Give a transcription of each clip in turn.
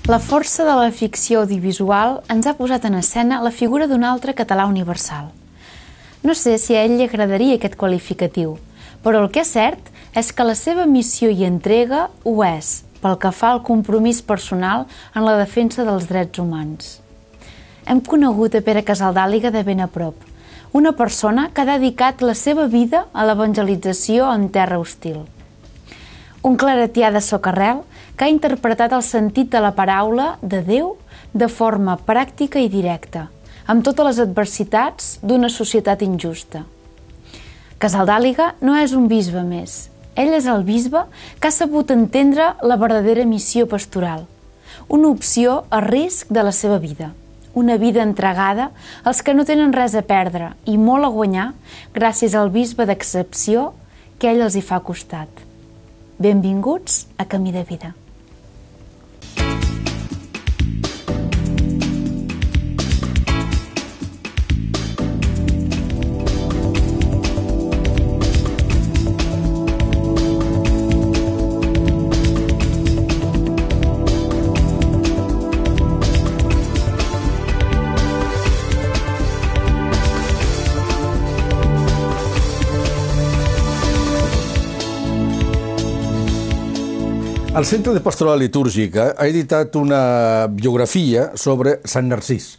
La força de la ficció audiovisual ens ha posat en escena la figura d'un altre català universal. No sé si a ell li agradaria aquest qualificatiu, però el que és cert és que la seva missió i entrega ho és, pel que fa al compromís personal en la defensa dels drets humans. Hem conegut a Pere Casaldàliga de ben a prop, una persona que ha dedicat la seva vida a l'evangelització en terra hostil. Un claretià de socarrel que ha interpretat el sentit de la paraula de Déu de forma pràctica i directa, amb totes les adversitats d'una societat injusta. Casaldàliga no és un bisbe més. Ell és el bisbe que ha sabut entendre la verdadera missió pastoral, una opció a risc de la seva vida, una vida entregada als que no tenen res a perdre i molt a guanyar gràcies al bisbe d'excepció que ell els hi fa costat. Benvinguts a Camí de Vida. El Centre de Pastoral Litúrgica ha editat una biografia sobre Sant Narcís,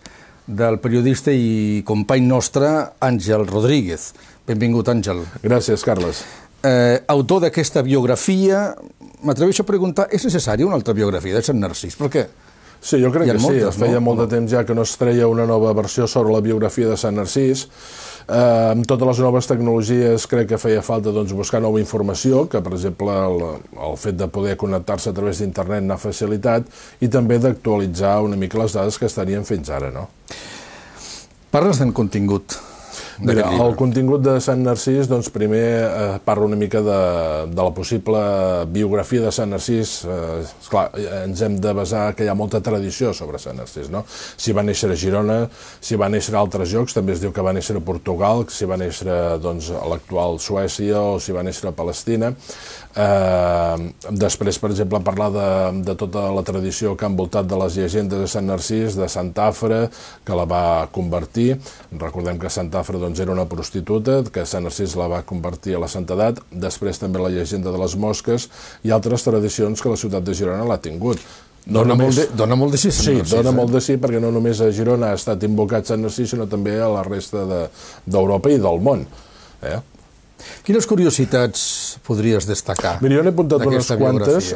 del periodista i company nostre Àngel Rodríguez. Benvingut, Àngel. Gràcies, Carles. Autor d'aquesta biografia, m'atreveixo a preguntar, és necessària una altra biografia de Sant Narcís? Per què? Sí, jo crec que sí. Feia molt de temps ja que no es treia una nova versió sobre la biografia de Sant Narcís. Amb totes les noves tecnologies crec que feia falta buscar nova informació, que per exemple el fet de poder connectar-se a través d'internet n'ha facilitat, i també d'actualitzar una mica les dades que estarien fins ara, no? Parles del contingut. Mira, el contingut de Sant Narcís, doncs primer parla una mica de la possible biografia de Sant Narcís. Esclar, ens hem de basar que hi ha molta tradició sobre Sant Narcís, no? Si va néixer a Girona, si va néixer a altres llocs, també es diu que va néixer a Portugal, si va néixer a l'actual Suècia o si va néixer a Palestina. Després, per exemple, parlar de tota la tradició que ha envoltat de les llegendes de Sant Narcís, de Sant Afra, que la va convertir. Recordem que Sant Afra era una prostituta, que Sant Narcís la va convertir a la santedat. Després també la llegenda de les mosques i altres tradicions que la ciutat de Girona l'ha tingut. Dona molt de sí, Sant Narcís. Sí, dona molt de sí, perquè no només a Girona ha estat invocat Sant Narcís, sinó també a la resta d'Europa i del món. Quines curiositats podries destacar? Mira, jo n'he apuntat unes quantes.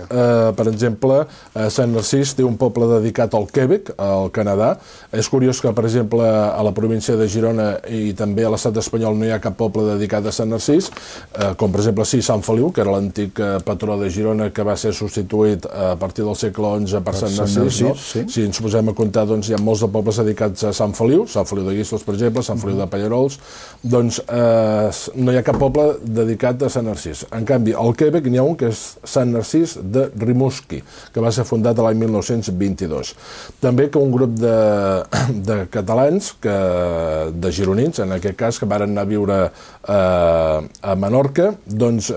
Per exemple, Sant Narcís té un poble dedicat al Quebec, al Canadà. És curiós que, per exemple, a la província de Girona i també a l'estat espanyol no hi ha cap poble dedicat a Sant Narcís, com per exemple sí, Sant Feliu, que era l'antic patró de Girona, que va ser substituït a partir del segle XI per Sant Narcís. Si ens posem a comptar, hi ha molts de pobles dedicats a Sant Feliu de Guíxols, per exemple, Sant Feliu de Pallarols. Doncs no hi ha cap poble dedicat a Sant Narcís. En canvi, al Quebec n'hi ha un que és Sant Narcís de Rimouski, que va ser fundat l'any 1922. També que un grup de catalans, de gironins, en aquest cas, que varen anar a viure a Menorca, doncs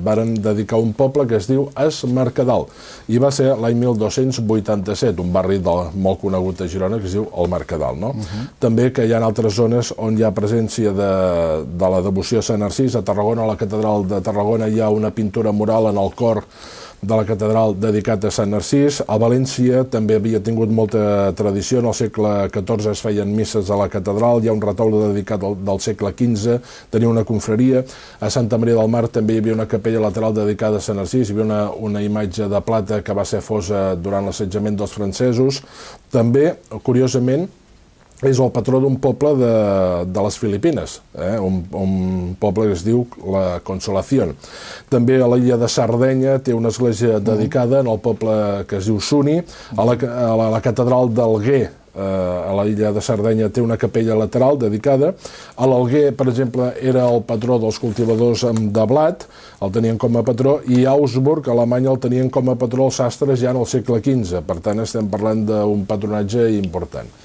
varen dedicar un poble que es diu Es Mercadal, i va ser l'any 1287, un barri molt conegut a Girona que es diu el Mercadal. També que hi ha altres zones on hi ha presència de la devoció a Sant Narcís. A Tarragona, a la catedral de Tarragona, hi ha una pintura mural en el cor de la catedral dedicat a Sant Narcís. A València també havia tingut molta tradició. En el segle XIV es feien misses a la catedral. Hi ha un retaule dedicat del segle XV, tenia una confraria. A Santa Maria del Mar també hi havia una capella lateral dedicada a Sant Narcís. Hi havia una imatge de plata que va ser fosa durant l'assetjament dels francesos. També, curiosament, és el patró d'un poble de les Filipines, un poble que es diu la Consolación. També a l'illa de Sardenya té una església dedicada en el poble que es diu Suni. A la catedral d'Alguer, a l'illa de Sardenya, té una capella lateral dedicada. A l'Alguer, per exemple, era el patró dels cultivadors de blat, el tenien com a patró, i a Augsburg, a Alemanya, el tenien com a patró els sastres ja en el segle XV. Per tant, estem parlant d'un patronatge important.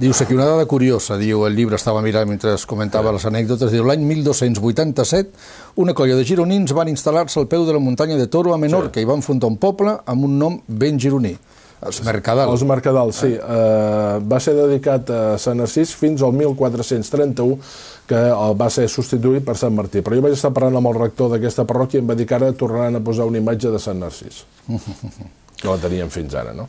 Dius aquí una dada curiosa, diu el llibre, estava mirant mentre es comentava les anècdotes, diu l'any 1287 una colla de gironins van instal·lar-se al peu de la muntanya de Toro a Menorca i van fundar un poble amb un nom ben gironí. Els Mercadal. Els Mercadal, sí. Va ser dedicat a Sant Narcís fins al 1431, que va ser substituït per Sant Martí. Però jo vaig estar parlant amb el rector d'aquesta parròquia i em va dir que ara tornaran a posar una imatge de Sant Narcís. Que la teníem fins ara, no?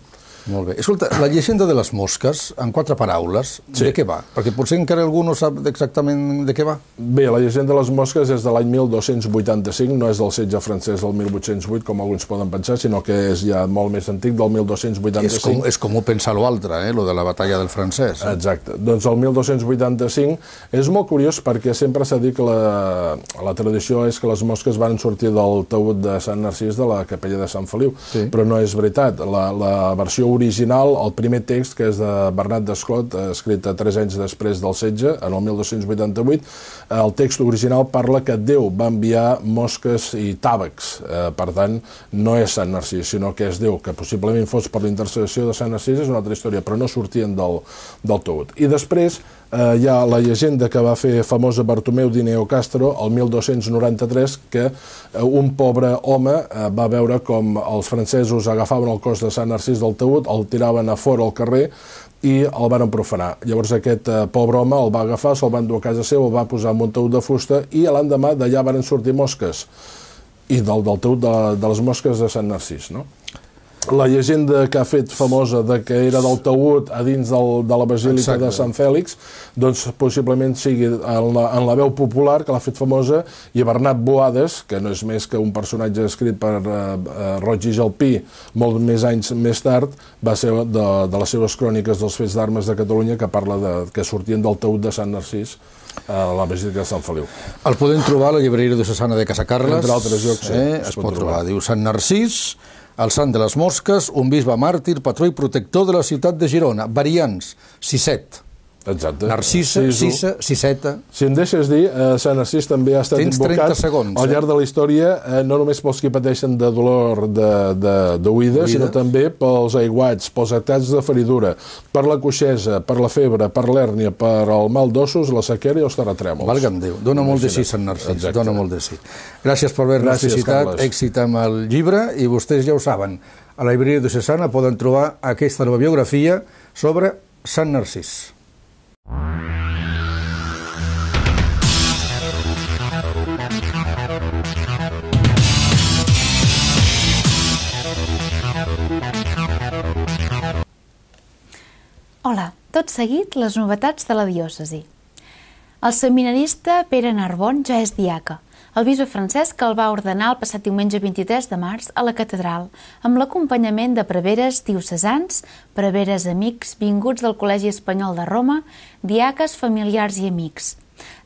Molt bé. Escolta, la llegenda de les mosques, en 4 paraules, de què va? Perquè potser encara algú no sap exactament de què va. Bé, la llegenda de les mosques és de l'any 1285, no és del setge francès del 1808, com alguns poden pensar, sinó que és ja molt més antic, del 1285. És com ho pensa l'altre, lo de la batalla del francès. Exacte. Doncs el 1285 és molt curiós perquè sempre s'ha dit que la tradició és que les mosques van sortir del taüt de Sant Narcís de la capella de Sant Feliu, però no és veritat. La versió original, el primer text, que és de Bernat d'Esclot, escrit 3 anys després del setge, en el 1288, el text original parla que Déu va enviar mosques i tàvecs. Per tant, no és Sant Narcís, sinó que és Déu, que possiblement fos per la intercessió de Sant Narcís, és una altra història, però no sortien del taüt. I després hi ha la llegenda que va fer famosa Bartomeu Dineo Castro el 1293, que un pobre home va veure com els francesos agafaven el cos de Sant Narcís del taüt, el tiraven a fora al carrer i el van profanar. Llavors aquest pobre home el va agafar, se'l va endur a casa seva, el va posar en un taüt de fusta i l'endemà d'allà van sortir mosques, i del taüt de les mosques de Sant Narcís, no? La llegenda que ha fet famosa de que era del taüt a dins de la Basílica de Sant Fèlix, doncs possiblement sigui en la veu popular que l'ha fet famosa, i Bernat Boades, que no és més que un personatge escrit per Roig i Jalpí molt més anys més tard, va ser de les seves cròniques dels fets d'armes de Catalunya, que parla que sortien del taüt de Sant Narcís a la Basílica de Sant Feliu. El podem trobar a la llibreria diocesana de Casa Carles. Entre altres llocs, sí. Es pot trobar. Diu Sant Narcís, el sant de les mosques, un bisbe màrtir, patró i protector de la ciutat de Girona. Variants, Sisset. Exacte. Narcisa, Sisa, Siseta. Si em deixes dir, Sant Narcís també ha estat invocat al llarg de la història, no només pels que pateixen de dolor d'oïda, sinó també pels aiguats, pels atacs de feridura, per la coixesa, per la febre, per l'hèrnia, per el mal d'ossos, la sequera i els terratrèmols. Valga'm Déu, dona molt de sí Sant Narcís, dona molt de sí. Gràcies per haver-nos visitat, èxit amb el llibre, i vostès ja ho saben, a la llibreria diocesana poden trobar aquesta nova biografia sobre Sant Narcís. Hola, tot seguit les novetats de la diòcesi. El seminarista Pere Narbon ja és diaca. El bisbe Francesc el va ordenar el passat diumenge 23 de març a la catedral, amb l'acompanyament de preveres diocesans, preveres amics vinguts del Col·legi Espanyol de Roma, diaques, familiars i amics.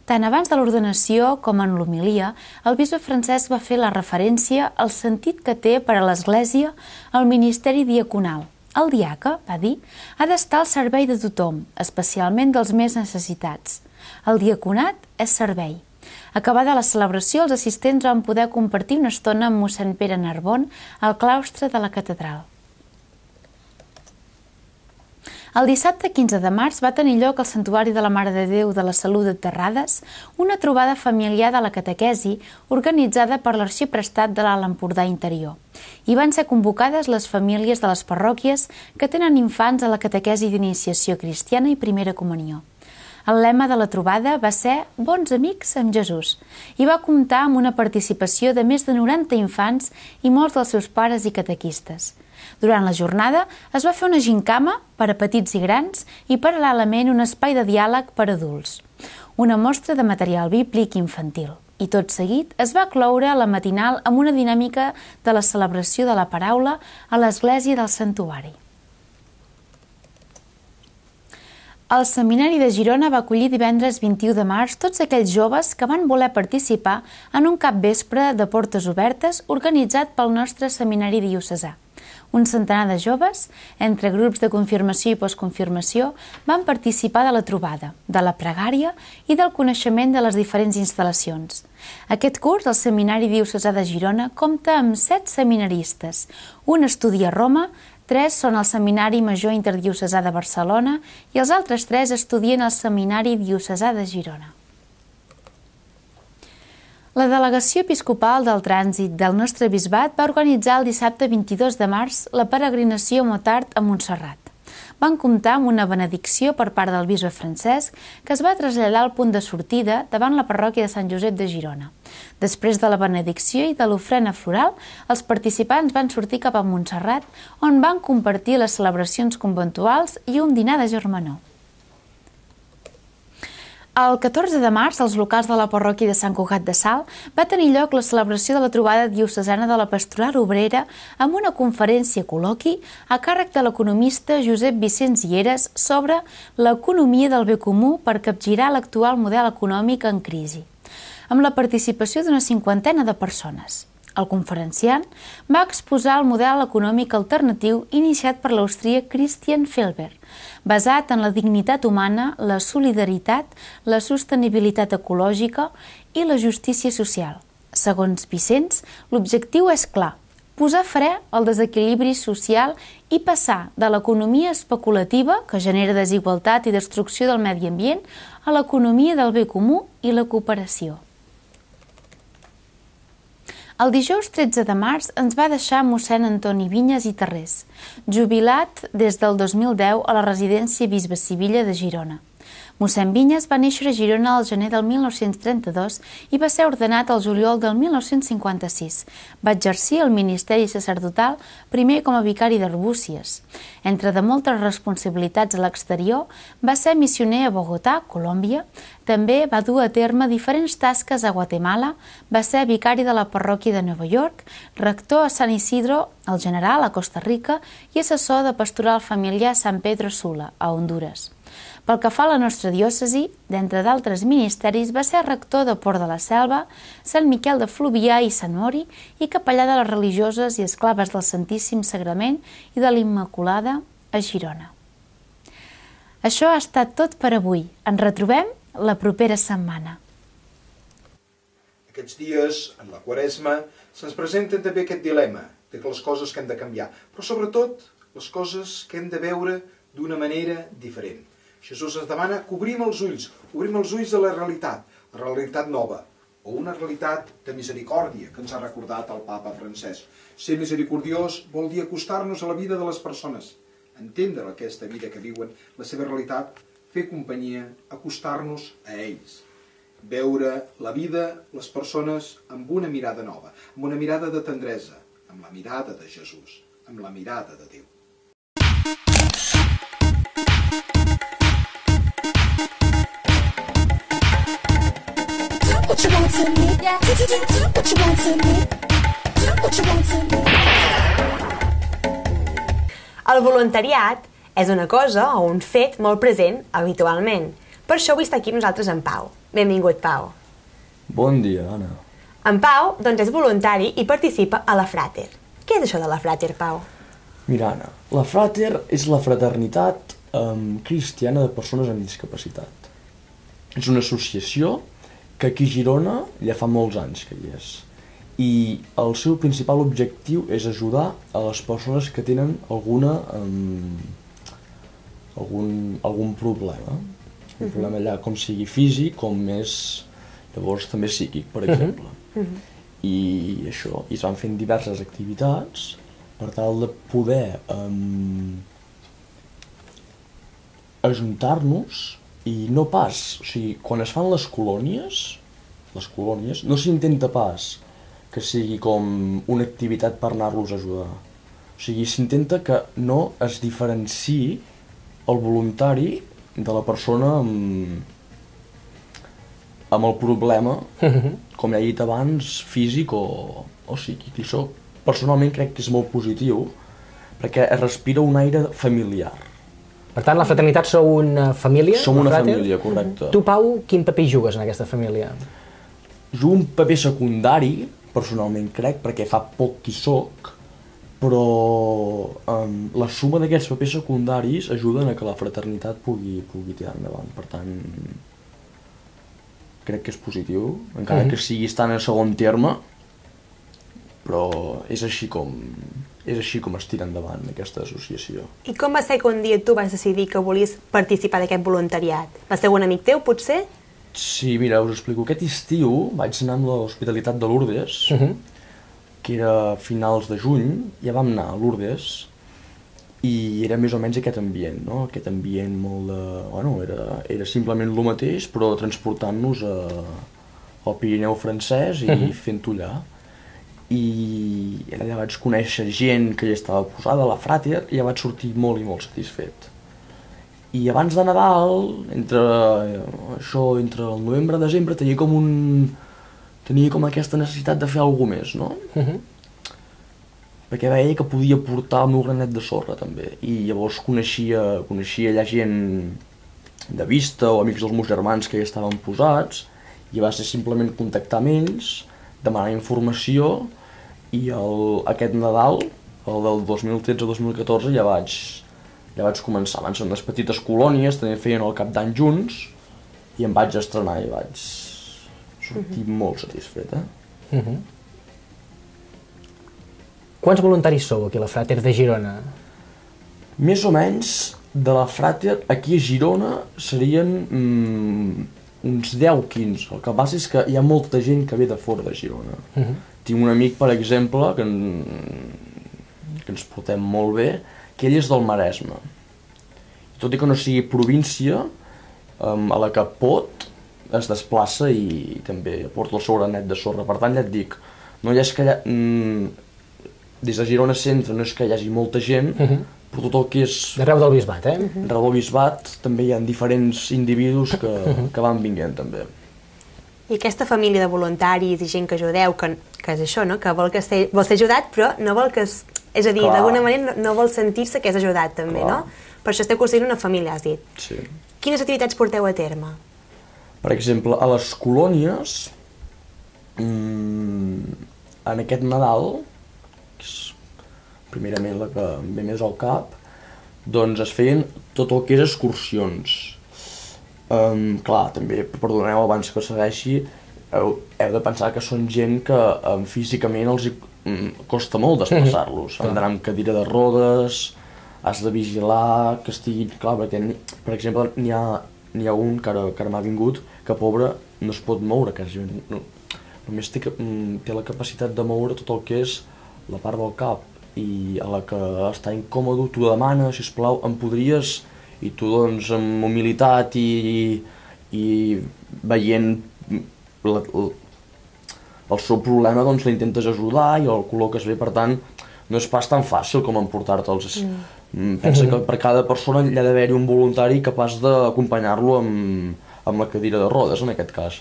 Tant abans de l'ordenació com en l'homilia, el bisbe Francesc va fer la referència al sentit que té per a l'Església el ministeri diaconal. El diaca, va dir, ha d'estar al servei de tothom, especialment dels més necessitats. El diaconat és servei. Acabada la celebració, els assistents van poder compartir una estona amb mossèn Pere Narbon al claustre de la catedral. El dissabte 15 de març va tenir lloc al Santuari de la Mare de Déu de la Salut de Terrades una trobada familiar de la catequesi organitzada per l'Arxiprestat de l'Alt Empordà Interior. Hi van ser convocades les famílies de les parròquies que tenen infants a la catequesi d'iniciació cristiana i primera comunió. El lema de la trobada va ser Bons amics amb Jesús i va comptar amb una participació de més de 90 infants i molts dels seus pares i catequistes. Durant la jornada es va fer una gincama per a petits i grans i paral·lelament un espai de diàleg per a adults, una mostra de material bíblic infantil. I tot seguit es va cloure la matinal amb una dinàmica de la celebració de la paraula a l'església del santuari. El Seminari de Girona va acollir divendres 21 de març tots aquells joves que van voler participar en un capvespre de portes obertes organitzat pel nostre Seminari diocesà. Un centenar de joves, entre grups de confirmació i postconfirmació, van participar de la trobada, de la pregària i del coneixement de les diferents instal·lacions. Aquest curs, el Seminari diocesà de Girona, compta amb 7 seminaristes. Un estudia a Roma, 3 són al Seminari Major Interdiocesà de Barcelona i els altres 3 estudien al Seminari diocesà de Girona. La Delegació Episcopal del Trànsit del nostre bisbat va organitzar el dissabte 22 de març la peregrinació Motard a Montserrat. Van comptar amb una benedicció per part del bisbe Francesc, que es va traslladar al punt de sortida davant la parròquia de Sant Josep de Girona. Després de la benedicció i de l'ofrena floral, els participants van sortir cap a Montserrat, on van compartir les celebracions conventuals i un dinar de germanor. El 14 de març, als locals de la parròquia de Sant Cugat de Salt, va tenir lloc la celebració de la trobada diocesana de la Pastoral Obrera amb una conferència col·loqui a càrrec de l'economista Josep Vicenç Lleres sobre l'economia del bé comú per capgirar l'actual model econòmic en crisi, amb la participació d'una 50ena de persones. El conferenciant va exposar el model econòmic alternatiu iniciat per l'austríac Christian Felber, basat en la dignitat humana, la solidaritat, la sostenibilitat ecològica i la justícia social. Segons Vicenç, l'objectiu és clar: posar fre al desequilibri social i passar de l'economia especulativa, que genera desigualtat i destrucció del medi ambient, a l'economia del bé comú i la cooperació. El dijous 13 de març ens va deixar mossèn Antoni Vinyes i Tarrés, jubilat des del 2010 a la residència Bisbe Sivilla de Girona. Mossèn Vinyes va néixer a Girona al gener del 1932 i va ser ordenat al juliol del 1956. Va exercir el ministeri sacerdotal primer com a vicari d'Arbúcies. Entre de moltes responsabilitats a l'exterior, va ser missioner a Bogotà, Colòmbia. També va dur a terme diferents tasques a Guatemala, va ser vicari de la parròquia de Nova York, rector a San Isidro, el General, a Costa Rica, i assessor de pastoral familiar a San Pedro Sula, a Hondures. Pel que fa a la nostra diòcesi, d'entre d'altres ministeris, va ser rector de Port de la Selva, Sant Miquel de Fluvià i Sant Mori i capellà de les religioses i esclaves del Santíssim Sagrament i de l'Immaculada a Girona. Això ha estat tot per avui. Ens retrobem la propera setmana. Aquests dies, en la Quaresma, se'ns presenta també aquest dilema de que les coses que hem de canviar, però sobretot les coses que hem de veure d'una manera diferent. Jesús ens demana que obrim els ulls a la realitat nova, o una realitat de misericòrdia, que ens ha recordat el Papa Francesc. Ser misericordiós vol dir acostar-nos a la vida de les persones, entendre aquesta vida que viuen, la seva realitat, fer companyia, acostar-nos a ells. Veure la vida, les persones, amb una mirada nova, amb una mirada de tendresa, amb la mirada de Jesús, amb la mirada de Déu. El voluntariat és una cosa o un fet molt present habitualment. Per això avui està aquí nosaltres en Pau. Benvingut, Pau. Bon dia, Anna. En Pau, doncs, és voluntari i participa a la Frater. Què és això de la Frater, Pau? Mira, Anna, la Frater és la fraternitat cristiana de persones amb discapacitat. És una associació que aquí a Girona ja fa molts anys que hi és. I el seu principal objectiu és ajudar a les persones que tenen algun problema. Un problema allà com sigui físic, com és llavors també psíquic, per exemple. I això, i es van fent diverses activitats per tal de poder ajuntar-nos. I no pas, o sigui, quan es fan les colònies, no s'intenta pas que sigui com una activitat per anar-los a ajudar. O sigui, s'intenta que no es diferenciï el voluntari de la persona amb el problema, com ja he dit abans, físic o psíquic. I això, personalment, crec que és molt positiu, perquè es respira un aire familiar. Per tant, la fraternitat sou una família? Som una família, correcte. Tu, Pau, quin paper hi jugues en aquesta família? Jugo un paper secundari, personalment crec, perquè fa poc que hi soc, però la suma d'aquests papers secundaris ajuden a que la fraternitat pugui tirar endavant. Per tant, crec que és positiu, encara que sigui estant en segon terme, però és així com es tira endavant aquesta associació. I com va ser que un dia tu vas decidir que volies participar d'aquest voluntariat? Va ser un amic teu, potser? Sí, mira, us explico. Aquest estiu vaig anar amb l'Hospitalitat de Lourdes, que era a finals de juny, ja vam anar a Lourdes, i era més o menys aquest ambient, no? Aquest ambient molt de... Bueno, era simplement el mateix, però transportant-nos al Pirineu francès i fent-ho allà. I allà vaig conèixer gent que ja estava posada a la Frater i ja vaig sortir molt i molt satisfet. I abans de Nadal, entre el novembre i desembre, tenia com aquesta necessitat de fer alguna cosa més, no? Perquè veia que podia portar el meu granet de sorra també, i llavors coneixia allà gent de vista o amics dels meus germans que ja estaven posats, i va ser simplement contactar amb ells, demanar informació, i aquest Nadal, el del 2013-2014, ja vaig començar. Van ser unes petites colònies, també feien el cap d'any junts, i em vaig estrenar i vaig sortir molt satisfet, Quants voluntaris sou aquí a la Frater de Girona? Més o menys, de la Frater, aquí a Girona, serien uns 10-15. El que passa és que hi ha molta gent que ve de fora de Girona. Tinc un amic, per exemple, que ens portem molt bé, que ell és del Maresme. Tot i que no sigui província, a la que pot, es desplaça i també porta el seu granet de sorra. Per tant, ja et dic, no hi és que des de Girona Centre no és que hi hagi molta gent, però tot el que és... D'arreu del Bisbat, Arreu del Bisbat també hi ha diferents individus que van vinguent, també. I aquesta família de voluntaris i gent que ajudeu, que és això, no? Que vol ser ajudat, però no vol que... És a dir, d'alguna manera no vol sentir-se que és ajudat, també, no? Per això esteu construint una família, has dit. Sí. Quines activitats porteu a terme? Per exemple, a les colònies, en aquest Nadal, que és primerament la que em ve més al cap, doncs es feien tot el que és excursions. Clar, també, perdoneu abans que segueixi, heu de pensar que són gent que físicament els costa molt desplaçar-los. Han d'anar amb cadira de rodes, has de vigilar que estiguin... Clar, perquè, per exemple, n'hi ha un que ara m'ha vingut, que pobre no es pot moure, només té la capacitat de moure tot el que és la part del cap, i a la que està incòmode t'ho demana, sisplau, em podries... I tu, doncs, amb humilitat i veient el seu problema, doncs l'intentes ajudar i el col·loques bé, per tant, no és pas tan fàcil com emportar-te'ls. Pensa que per cada persona hi ha d'haver-hi un voluntari capaç d'acompanyar-lo amb la cadira de rodes, en aquest cas.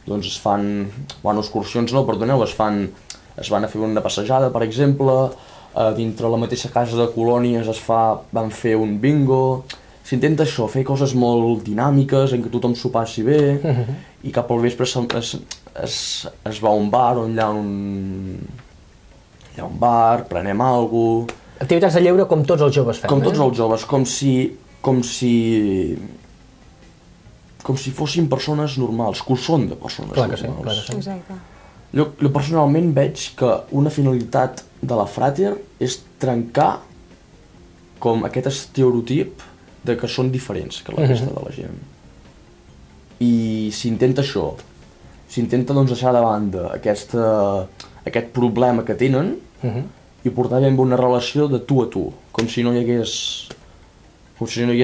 Doncs es fan... Bueno, excursions no, perdoneu, es van a fer una passejada, per exemple, dintre la mateixa casa de colònies van fer un bingo... S'intenta això, fer coses molt dinàmiques, en què tothom s'ho passi bé, i cap al vespre es va a un bar, on hi ha un bar, prenem alguna cosa... Activitats de lleure com tots els joves fem, Com tots els joves, com si fossin persones normals, que ho són de persones normals. Clar que sí. Exacte. Jo personalment veig que una finalitat de la Frater és trencar com aquest estereotip de que són diferents que la resta de la gent. I s'intenta això, s'intenta doncs deixar de banda aquest problema que tenen i portar ben una relació de tu a tu, com si no hi hagués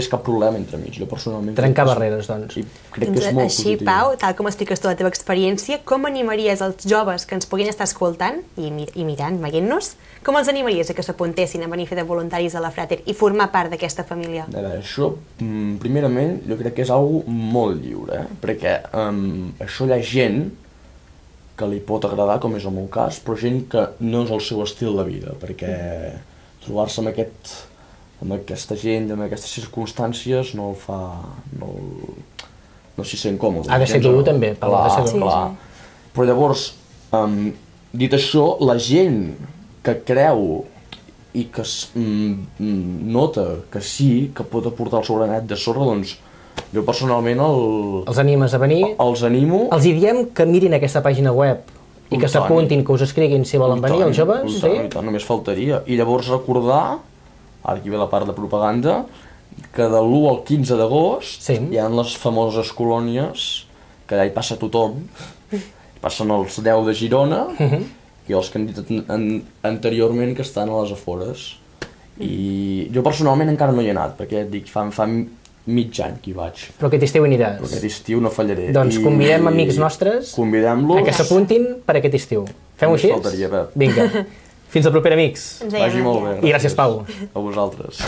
cap problema entre mig. Jo personalment... Trencar barreres, doncs. I crec que és molt Així, positiu. Pau, tal com expliques tu la teva experiència, com animaries els joves que ens puguin estar escoltant i mirant, veient-nos, com els animaries a que s'apuntessin a venir a fer de voluntaris a la Frater i formar part d'aquesta família? A veure, això, primerament, jo crec que és algo molt lliure, perquè això hi ha gent que li pot agradar, com és el meu cas, però gent que no és el seu estil de vida, perquè trobar-se amb aquesta gent, amb aquestes circumstàncies, no el fa... no s'hi sent còmode. Ha de ser dur, també, Pau, ha de ser dur. Clar. Però llavors, dit això, la gent que creu i que nota que sí, que pot aportar el seu granet de sorra, doncs jo personalment Els animes a venir? Els animo. Els hi diem que mirin aquesta pàgina web i que s'apuntin, que us escriguin si volen venir, els joves? I tant, només faltaria. I llavors recordar, ara aquí ve la part de propaganda, que de l'1 al 15 d'agost hi ha les famoses colònies que allà hi passa tothom, passen els 10 de Girona i els que han dit anteriorment que estan a les afores. I jo personalment encara no hi he anat, perquè et dic, fa mig any que hi vaig. Però aquest estiu hi aniràs. Però aquest estiu no fallaré. Doncs convidem amics nostres a que s'apuntin per aquest estiu. Fem-ho així? Faltaria, Pep. Vinga. Fins al proper, amics. Vagi molt bé. I gràcies, Pau. A vosaltres.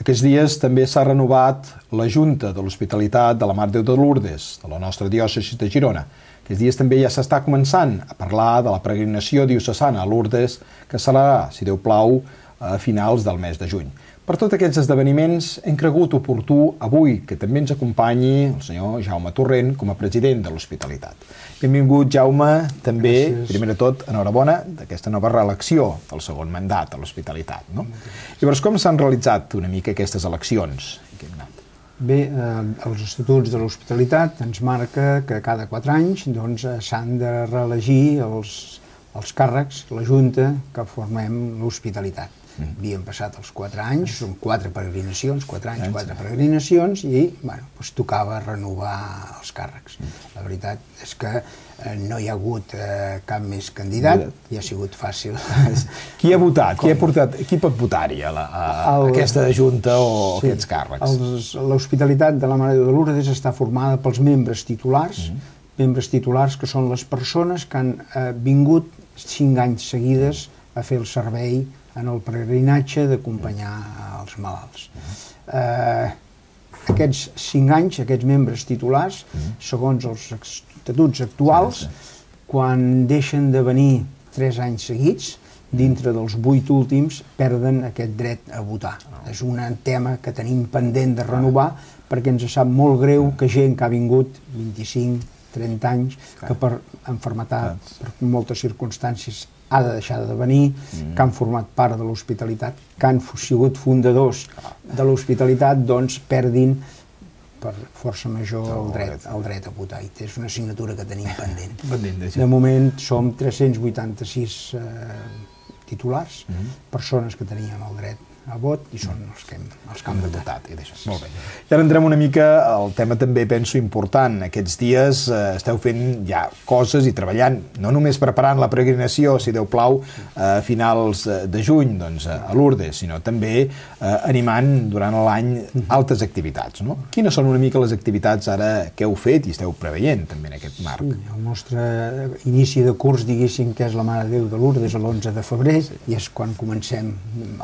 Aquests dies també s'ha renovat la Junta de l'Hospitalitat de la Mare de Déu de Lourdes, de la nostra diòcesi de Girona. Aquests dies també ja s'està començant a parlar de la peregrinació diocesana a Lourdes, que serà, si Déu plau, a finals del mes de juny. Per tots aquests esdeveniments hem cregut oportú avui que també ens acompanyi el senyor Jaume Torrent com a president de l'Hospitalitat. Benvingut, Jaume. També, primer de tot, enhorabona d'aquesta nova reelecció del segon mandat a l'Hospitalitat. No? Llavors, com s'han realitzat una mica aquestes eleccions? Bé, els estatuts de l'Hospitalitat ens marca que cada 4 anys s'han de reelegir els càrrecs, la Junta, que formem l'Hospitalitat. Havíem passat els 4 anys, són 4 peregrinacions, 4 anys, 4 peregrinacions, i tocava renovar els càrrecs. La veritat és que no hi ha hagut cap més candidat, i ha sigut fàcil. Qui ha votat? Qui pot votar-hi a aquesta junta o aquests càrrecs? L'Hospitalitat de la Mare de Déu de Lourdes està formada pels membres titulars que són les persones que han vingut 5 anys seguides a fer el servei en el peregrinatge d'acompanyar els malalts. Aquests 5 anys, aquests membres titulars, segons els estatuts actuals, quan deixen de venir 3 anys seguits, dintre dels 8 últims, perden aquest dret a votar. És un tema que tenim pendent de renovar, perquè ens sap molt greu que gent que ha vingut 25, 30 anys, que per malaltia, per moltes circumstàncies, ha de deixar de venir, que han format part de l'Hospitalitat, que han sigut fundadors de l'Hospitalitat, doncs perdin per força major el dret a votar. I és una assignatura que tenim pendent. De moment som 386 titulars, persones que teníem el dret a vot, i són els que han votat. Molt bé. I ara entrem una mica al tema també, penso, important. Aquests dies esteu fent ja coses i treballant, no només preparant la peregrinació, si Déu plau, a finals de juny a Lourdes, sinó també animant durant l'any altres activitats. Quines són una mica les activitats ara que heu fet i esteu preveient també en aquest marc? El nostre inici de curs, diguéssim, que és la Mare de Déu de Lourdes, l'11 de febrer, i és quan comencem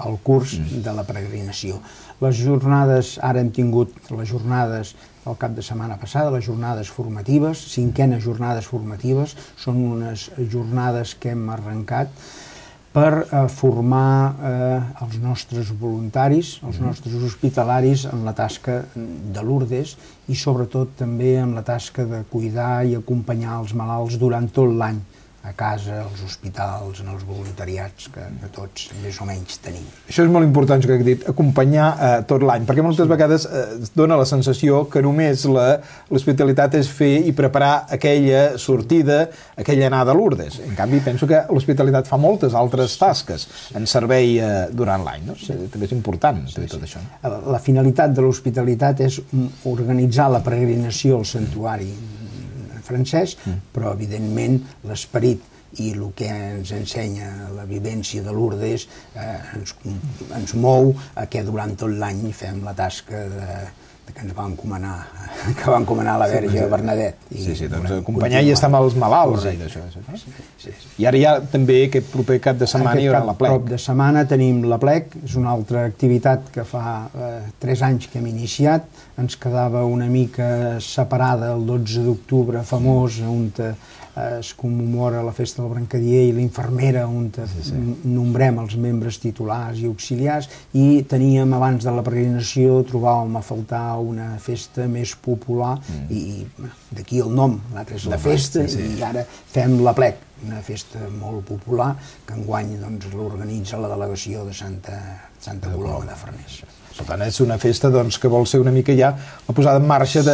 el curs de la peregrinació. Les jornades, ara hem tingut les jornades el cap de setmana passada, les jornades formatives, 5enes jornades formatives, són unes jornades que hem arrencat per formar els nostres voluntaris, els nostres hospitalaris en la tasca de Lourdes i sobretot també en la tasca de cuidar i acompanyar els malalts durant tot l'any, a casa, als hospitals, en els voluntariats que tots més o menys tenim. Això és molt important, que he dit, acompanyar tot l'any, perquè moltes vegades es dona la sensació que només l'hospitalitat és fer i preparar aquella sortida, aquella anada a Lourdes. En canvi, penso que l'hospitalitat fa moltes altres tasques en servei durant l'any. També és important tot això. La finalitat de l'hospitalitat és organitzar la peregrinació al santuari francès, però evidentment l'esperit i el que ens ensenya la vivència de Lourdes ens mou a que durant tot l'any fem la tasca que ens va encomanar la Verge Bernadette. Acompanyar i estar amb els malalts. I ara ja també aquest proper cap de setmana hi haurà la plec. Aquest cap de setmana tenim la plec, és una altra activitat que fa 3 anys que hem iniciat, ens quedava una mica separada el 12 d'octubre famós, on es commemora la festa del Brancadier i l'infermera, on nombrem els membres titulars i auxiliars, i teníem, abans de la peregrinació, trobàvem a faltar una festa més popular, i d'aquí el nom, l'altre és la festa, i ara fem la plec, una festa molt popular, que enguany l'organitza la delegació de Santa Coloma de Farners. Per tant, és una festa que vol ser una mica ja la posada en marxa de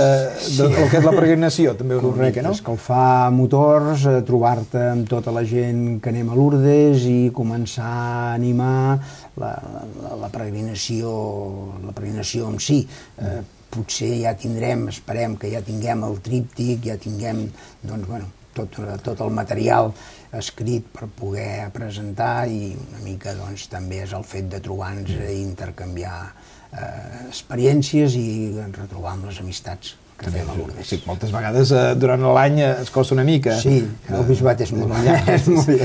el que és la peregrinació, també una mica, no? Escalfar motors, trobar-te amb tota la gent que anem a Lourdes i començar a animar la peregrinació en si. potser ja tindrem, esperem que ja tinguem el tríptic, ja tinguem, doncs, bueno, tot el material escrit per poder presentar, i una mica doncs, també és el fet de trobar-nos i intercanviar experiències i retrobar amb les amistats que fem a Lourdes. Sí, moltes vegades durant l'any es costa una mica. Sí, el bisbat és molt llarg,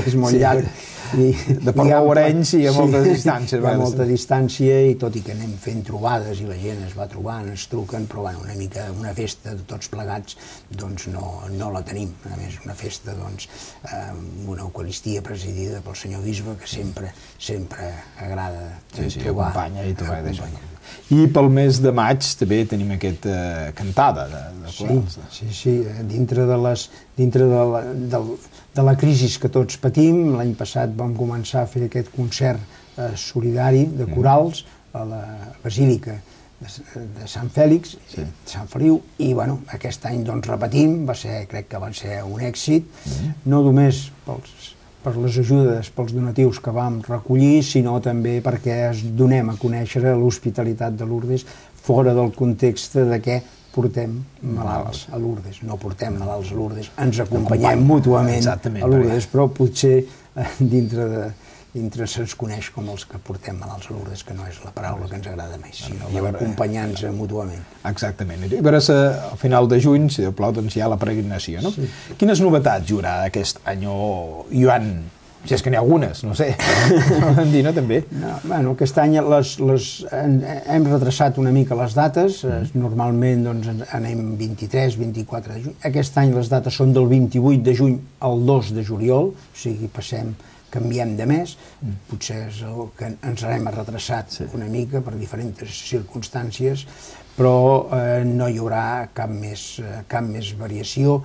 és molt llarg. De Port Lourenç i a moltes distàncies. Hi ha molta distància, i tot i que anem fent trobades i la gent es va trobant, ens truquen, però bueno, una mica una festa de tots plegats doncs no la tenim. A més, una festa doncs, amb una eucaristia presidida pel senyor bisbe, que sempre agrada trobar. Acompanya i trobar d'això. I pel mes de maig també tenim aquesta cantada de corals. Sí, dintre de la crisi que tots patim. L'any passat vam començar a fer aquest concert solidari de corals a la Basílica de Sant Fèlix, Sant Feliu, i bueno, aquest any doncs repetim, crec que va ser un èxit, no només per les ajudes, pels donatius que vam recollir, sinó també perquè donem a conèixer l'hospitalitat de Lourdes fora del context de què portem malalts a Lourdes. No portem malalts a Lourdes, ens acompanyem mútuament a Lourdes, però potser dintre se'ns coneix com els que portem malalts a Lourdes, que no és la paraula que ens agrada més, sinó d'acompanyar-nos mútuament. Exactament. I a veure, al final de juny, si Déu plau, doncs hi ha la peregrinació, no? Quines novetats hi haurà aquest any, Joan? Si és que n'hi ha algunes, no sé. Vam dir, no, també? Bueno, aquest any hem retrasat una mica les dates. Normalment anem 23, 24 de juny. Aquest any les dates són del 28 de juny al 2 de juliol, o sigui, canviem de mes. Potser és el que ens hem retrasat una mica per diferents circumstàncies, però no hi haurà cap més variació.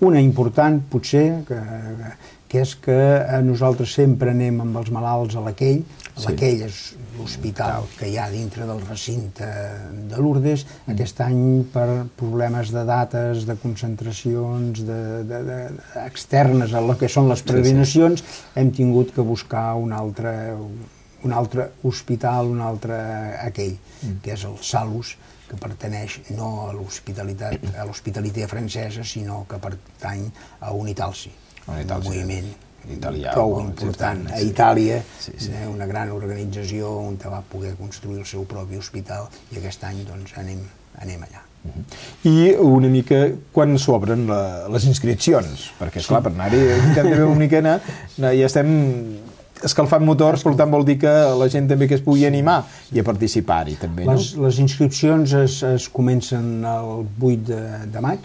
Una important, potser, que és que nosaltres sempre anem amb els malalts a l'Aquell. L'Aquell és l'hospital que hi ha dintre del recinte de Lourdes. Aquest any, per problemes de dates, de concentracions externes a el que són les peregrinacions, hem tingut que buscar un altre hospital, un altre Aquell, que és el Salus, que pertaneix no a l'hospitalitat francesa, sinó que pertany a Unitalsi, un moviment prou important a Itàlia, una gran organització on va poder construir el seu propi hospital, i aquest any doncs anem allà. I una mica quan s'obren les inscripcions, perquè esclar, per anar-hi hem de veure una mica, ja estem escalfant motors, per tant vol dir que la gent també que es pugui animar i a participar-hi també, no? Les inscripcions es comencen el 8 de maig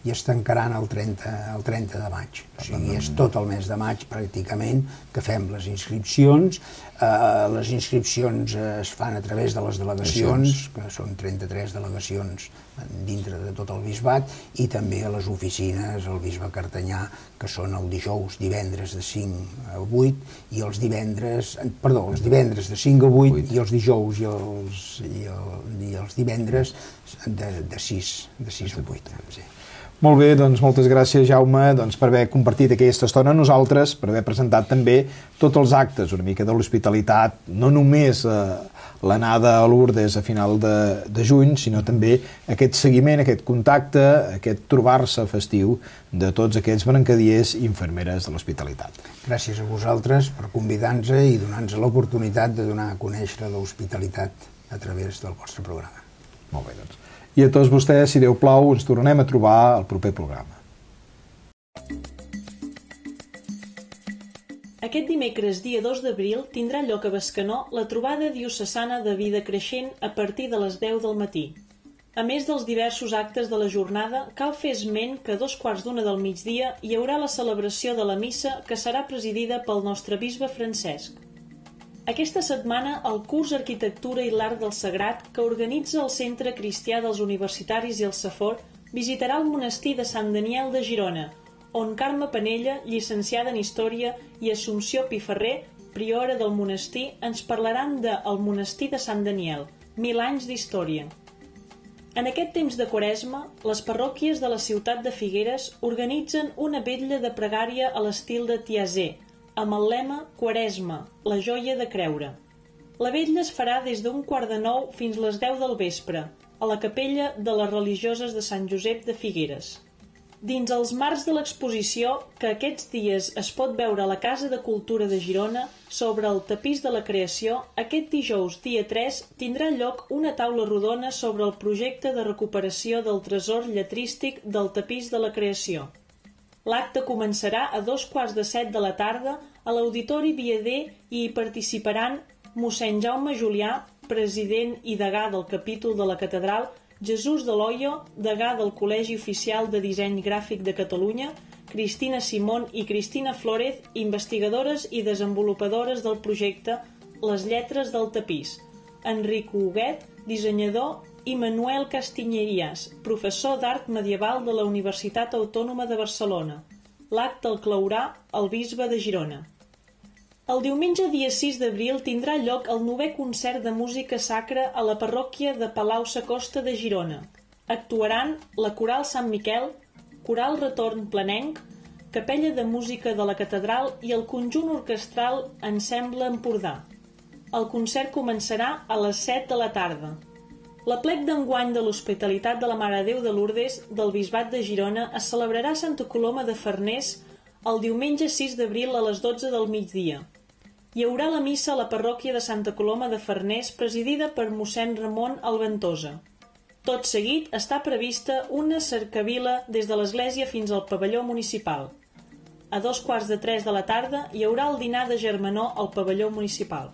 i es tancaran el 30 de maig. O sigui, és tot el mes de maig pràcticament que fem les inscripcions. Les inscripcions es fan a través de les delegacions, que són 33 delegacions dintre de tot el bisbat, i també a les oficines, el bisbe Cartanyà, que són el divendres de 5 a 8, i els divendres de 5 a 8, i els dijous i els divendres de 6 a 8. Molt bé, doncs moltes gràcies, Jaume, per haver compartit aquesta estona amb nosaltres, per haver presentat també tots els actes, una mica de l'hospitalitat, no només l'anada a Lourdes a final de juny, sinó també aquest seguiment, aquest contacte, aquest trobar-se festiu de tots aquests brancadiers i infermeres de l'hospitalitat. Gràcies a vosaltres per convidar-nos i donar-nos l'oportunitat de donar a conèixer l'hospitalitat a través del vostre programa. Molt bé, doncs. I a tots vostès, si Déu plau, ens tornem a trobar al proper programa. Aquest dimecres, dia 2 d'abril, tindrà lloc a Bescanó la trobada diocesana de vida creixent a partir de les 10 del matí. A més dels diversos actes de la jornada, cal fer esment que a 2:15 del migdia hi haurà la celebració de la missa, que serà presidida pel nostre bisbe Francesc. Aquesta setmana, el curs Arquitectura i l'Art del Sagrat, que organitza el Centre Cristià dels Universitaris i el Safor, visitarà el monestir de Sant Daniel de Girona, on Carme Penella, llicenciada en Història, i Assumpció Piferrer, priora del monestir, ens parlaran de El monestir de Sant Daniel, 1000 anys d'història. En aquest temps de Quaresma, les parròquies de la ciutat de Figueres organitzen una vetlla de pregària a l'estil de Tiazé, amb el lema Quaresma, la joia de creure. La vetlla es farà des d'8:45 fins les 10 del vespre, a la capella de les religioses de Sant Josep de Figueres. Dins els marcs de l'exposició, que aquests dies es pot veure a la Casa de Cultura de Girona, sobre el tapís de la creació, aquest dijous, dia 3, tindrà lloc una taula rodona sobre el projecte de recuperació del tresor lletrístic del tapís de la creació. L'acte començarà a 6:15 de la tarda a l'Auditori Viader i hi participaran mossèn Jaume Julià, president i degà del capítol de la catedral, Jesús de Loyo, degà del Col·legi Oficial de Disseny Gràfic de Catalunya, Cristina Simón i Cristina Flórez, investigadores i desenvolupadores del projecte Les lletres del tapís, Enric Huguet, dissenyador, i Manuel Castiñerías, professor d'art medieval de la Universitat Autònoma de Barcelona. L'acte el claurà el bisbe de Girona. El diumenge dia 6 d'abril tindrà lloc el 9è concert de música sacra a la parròquia de Palau-Sacosta de Girona. Actuaran la Coral Sant Miquel, Coral Retorn Planenc, Capella de Música de la Catedral i el conjunt orquestral Ensemble Empordà. El concert començarà a les 7 de la tarda. L'aplec d'enguany de l'Hospitalitat de la Mare de Déu de Lourdes del Bisbat de Girona es celebrarà a Santa Coloma de Farners el diumenge 6 d'abril a les 12 del migdia. Hi haurà la missa a la parròquia de Santa Coloma de Farners presidida per mossèn Ramon Alventosa. Tot seguit està prevista una cercavila des de l'església fins al pavelló municipal. A 2:15 de la tarda hi haurà el dinar de germanor al pavelló municipal.